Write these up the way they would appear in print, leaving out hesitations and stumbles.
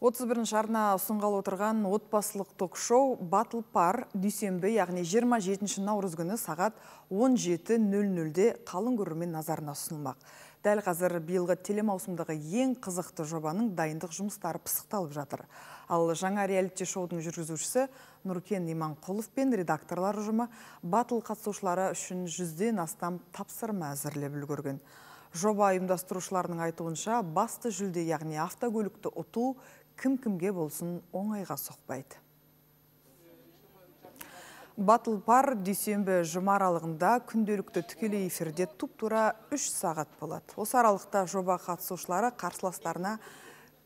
31 арна ұсынғалы отырған отбасылық ток-шоу Battle Par дүйсенбі, яғни 27 наурыз күні сағат 17:00-де қалың көрермен назарына ұсынылмақ. Дәл қазір биылғы телемаусымдағы ең қызықты жобаның дайындық жұмыстары пысықталып жатыр. Ал жаңа реалити шоудың жүргізушісі Нұркен Иманқұлов пен редакторлар ұжымы батл қатысушылары үшін 100-ден астам тапсырма әзірлеп үлгерген. Жоба ұйымдастырушыларының айтуынша басты жүлде, яғни автокөлікті ұту кім-кімге болсын оңайға соқпайды. Battle Par дүйсенбі жұма аралығында күнделікті тікелей эфирде туп-тура 3 сағат болады. Осы аралықта жоба қатысушылары қарсыластарына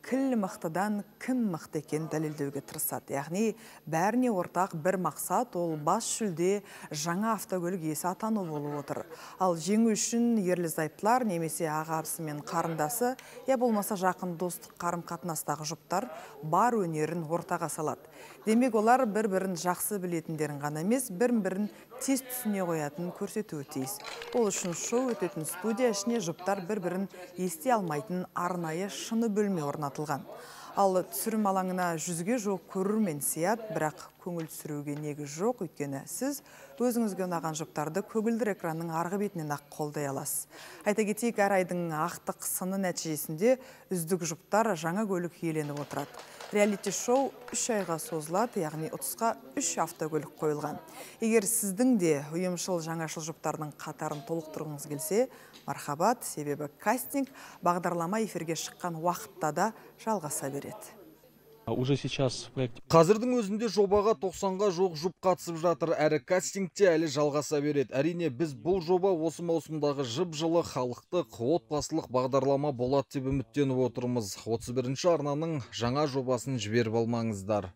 кіл мықтыдан кім мықты екен дәлелдеуге тырысады. Яғни бәріне ортақ бір мақсат, ол бас жүлде жаңа автокөлік иесі атану болып отыр. Ал жеңу үшін ерлі-зайыптылар немесе ағасы мен қарындасы, я болмаса жақын достық қарым-қатынастағы жұптар бар өнерін ортаға салады. Демек олар бір-бірін жақсы білетіндерін ғана емес, бір-бірін тез түсіне қоятынын көрсетуі тиіс. Ол үшін шоу өтетін студия ішіне жұптар бір-бірін ести алмайтын арнайы шыны бөлме орнатылған. Ал түсірім алаңына 100-ге жоқ көрермен сияды, бірақ көңіл түсіруге негіз жоқ, өйткені сіз өзіңізге ұнаған жұптарды көгілдір экранның арғы бетінен ақ қолдай аласыз. Айта кетейік, әр айдың ақтық сыны нәтижесінде үздік жұптар жаңа көлік иеленіп отырады. Реалити шоу 3 айға созылады, яғни ұтысқа 3 автокөлік қойылған. Егер сіздің де ұйымшыл жаңашыл жұптардың қатарын толықтырғыңыз келсе, мархабат, себебі кастинг бағдарлама эфирге шыққан уақытта да жалғаса береді. Қазірдің өзінде жобаға 90-ға жоқ жұп қатысып жатыр, әрі кастингте әлі жалғаса береді. Әрине, біз бұл жоба осы маусымдағы жып-жылы халықтық отбасылық бағдарлама болады деп үміттеніп отырмыз. 31 арнаның жаңа жобасын жіберіп алмаңыздар.